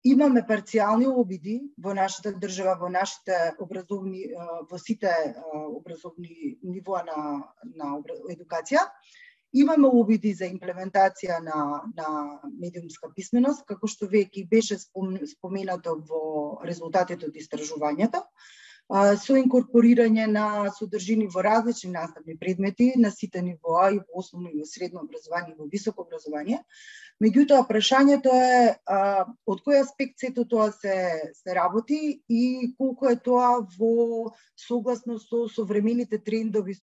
Имаме парцијални обиди во нашата држава, во нашите образовни, во сите образовни нивоа на едукација. Имаме обиди за имплементација на медиумска писменост, како што веќе беше споменато во резултатите од истражувањето, со инкорпорирање на содржини во различни наставни предмети на сите нивоа, и во основно и во средно образование и во високо образование. Меѓутоа, прашањето е од кој аспект сето тоа се работи и колку е тоа во согласно со современите трендови